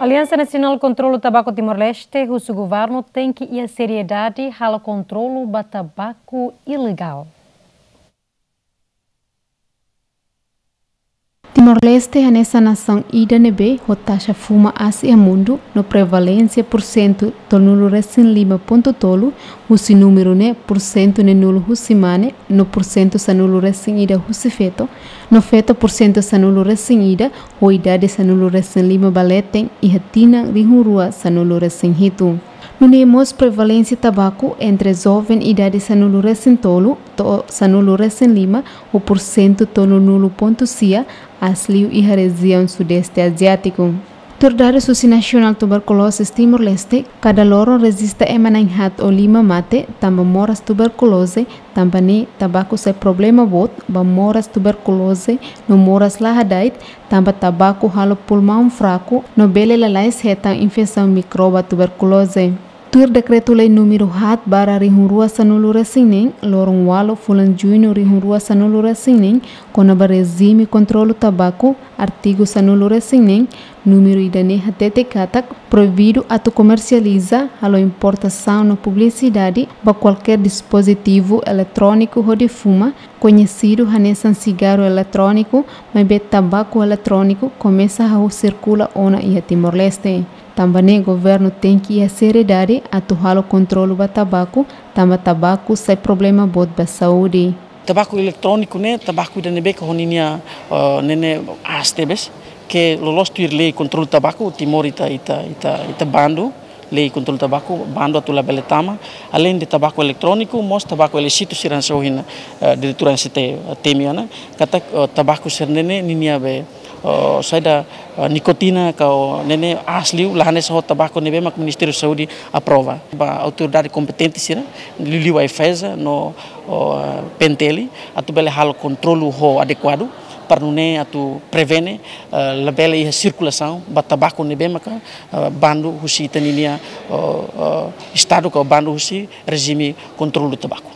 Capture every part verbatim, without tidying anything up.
Aliansa Nasionál Kontrolu Tabaku Timor-Leste husu governu tenke iha seriedade halo kontrolu ba tabaku ilegál. Timor-Leste hanesan nasaun ida ne'ebé ho taxa fuma aas iha mundu, no prevalénsia pursentu tolunulu-resin-lima pontu tolu, husi númeru ne'e pursentu neenulu husi mane, no pursentu sanulu-resin-ida husi feto, no feto pursentu sanulu-resin-ida, ho idade sanulu-resin-lima ba leten iha tinan rihun rua sanulu-resin-hitu. Nune'e mós prevalénsia tabaku entre joven idade sanulu-resin-tolu to'o sanulu-resin-lima ho pursentu tolunulu pontu sia aas liu iha rejiaun Sudeste Aziátiku. Tuir dadus husi National Tuberculosis Timor-Leste, kada loron rejista ema na'in-haat ou lima mate tanba moras tuberkuloze, tanba ne'e tabaku sai problema boot ba moras tuberkuloze no moras la hada'et, tanba tabaku halo pulmaun fraku no bele lalais hetan infesaun mikroba tuberkuloze. Tuir Dekretu-Lei númeru haat barra rihun rua sanulu-resin-neen, loron ualu fulan Juñu rihun rua sanulu-resin-neen, kona-ba rejime kontrolu tabaku, artigu sanulu-resin-neen, númeru ida-ne'e hatete katak proibidu atu komersializa, halo importasaun no publisidade ba kualkér dispozitivu eletróniku hodi fuma, koñesidu hanesan sigarru eletróniku, maibé tabaku eletróniku komesa hahú sirkula ona iha Timor-Leste. Tanba ne'e governu tenke iha seriedade atu halo kontrolu ba tabaku, tanba tabaku sai problema boot ba saúde. Tabaku eletróniku ne'e tabaku ida ne'ebé ke ho ninia, eh, ne'e ne'e aas tebes, ke loloos tuir lei kontrolu tabaku, Timor ita, ita, ita, ita bandu, lei kontrolu tabaku, bandu atu labele tama, além de tabaku eletróniku, mós tabaku ilísitu sira hanesan ohin, eh, diretora N C T, eh, temi ona, katak, eh, tabaku sira-ne'e ninia be, eh, saida, eh, nikotina ka ne'e ne'e aas liu, la hanesan ho tabaku ne'ebé mak Ministériu Saúde aprova. Ba autoridade kompetente sira, liuliu AIFAESA no, o, eh, P N T L, atu bele halo kontrolu ho adekuadu, para nune'e atu prevene, eh, labele iha sirkulasaun ba tabaku ne'ebé maka, eh, bandu husi ita-ninia, o, o, Estadu ka bandu husi rejime kontrolu tabaku.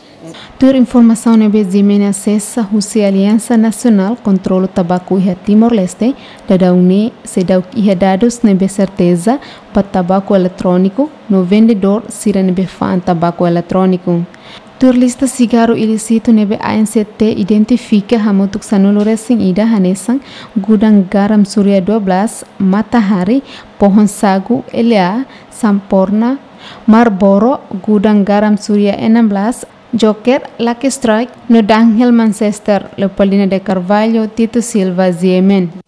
Tuir informasaun ne'ebé G M N asesa husi Aliansa Nasionál Kontrolu Tabaku iha Timor-Leste, daudaun ne'e seidauk iha dadus ne'ebé serteza ba tabaku eletróniku no vendedór sira ne'ebé fa'an tabaku eletróniku. Tuir lista sigarru ilísitu ne'ebé A N C T identifika hamutuk sanulu-resin-ida hanesan gudang garam Surya dua belas, Matahari, Pohon Sagu, L A, Sampoerna, Marlboro, gudang garam Surya enam belas, Joker, Lucky Strike, no Dunhill, Manchester. Leopoldina de Carvalho, Tito Silva, G M N.